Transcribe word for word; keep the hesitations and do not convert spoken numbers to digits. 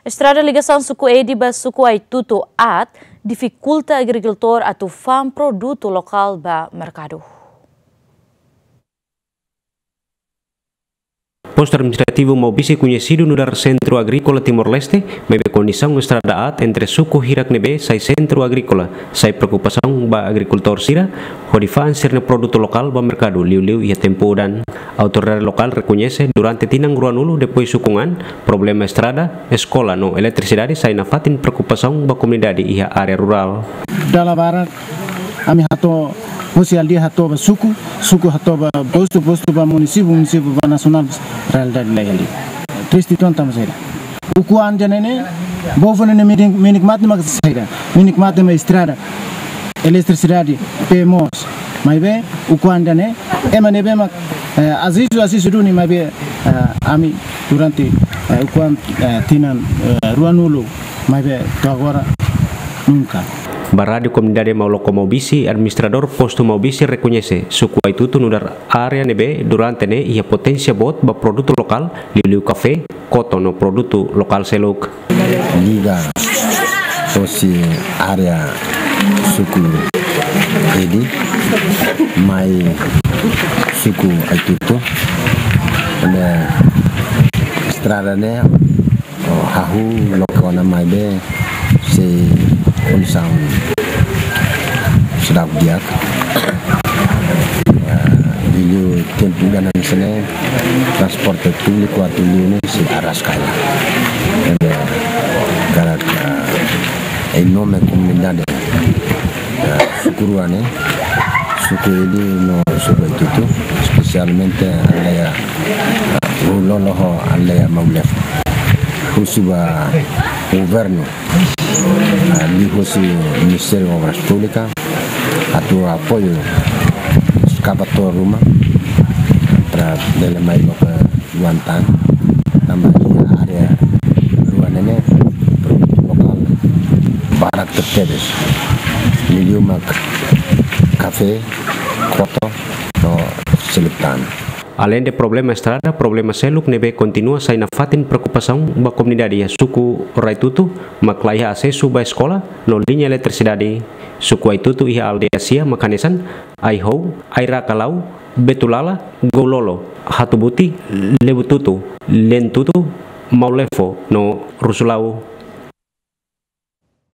Estrada ligasaun suku Edi ba suku Aitutu aat difikulta agrikultór atu fa'an produtu lokál ba merkadu. Postu Administrativu Maubisse koñesidu nu'udar Sentru Agríkola Timor-Leste, maibé kondisaun estrada aat entre suku hirak ne'ebé sai sentru agríkola, sai preokupasaun ba agrikultór sira, hodi fa'an sira-nia produtu lokál ba merkadu liuliu iha tempu udan. Autoridade lokál rekoñese durante tinan ruanulu depois ukun an, problema estrada, eskola no eletrisidade sai nafatin preokupasaun ba komunidade iha área rurál. Dala barak, ami hato'o, husi aldeia hato'o ba suku, suku hato'o ba postu, postu ba munisípiu, munisípiu ba nasionál, realidade la iha liu. Triste uitoan tanba saida. Ukun an tiha ne'e, povu ne'e menik, menik mate mak saida, menik mate mak estrada, eletrisidade, pemos. Maibé, ukun an tiha ne'e, ema ne'ebé mak, eh, asesu, asesu duni, maibé, eh, ami durante, eh, ukun an, eh, tinan, eh, ruanulu, maibé to'o agora nunka. Ba Rádiu Komunidade Mauloko Maubisse, administradór postu Maubisse rekoñese suku Aitutu nu'udar área ne'ebé durante ne'e iha poténsia boot ba produtu lokál, liuliu kafé, koto no produtu lokál seluk. Liga hosi área suku Edi mai suku Aitutu. Ne'e estrada ne'e, oh, hahú loke ona maibé sei kondisaun seidauk di'ak. Ah, liuliu tempu udan hanesan ne'e, transporte públiku atu liu ne'e sei araska hela. Entaun, karik, ah, em nome komunidade, ah, suku rua ne'e, suku Edi no suku Aitutu, espesialmente aldeia, ah, Rulolo ho aldeia Maulefo. Husu ba governu, ah, liuhosi Ministériu Obras Públikas, atu apoiu eskavatór ruma, para bele mai loke uitoan tan, tanba iha área rua ne'e ne'e, produtu lokál barak tebes. Liuliu mak kafé, koto, no seluk tan. Aleinde problema estrada, problema seluk ne'ebé kontinua sai nafatin preokupasaun ba komunidade iha suku Aitutu, mak laiha asesu ba eskola no liña eletrisidade. Suku Aitutu iha aldeia sia mak hanesan Aihou, Airakalau, Betulala, Goulolo, Hatubuti, Lebututu, Lentutu, Maulefo no Rusulau.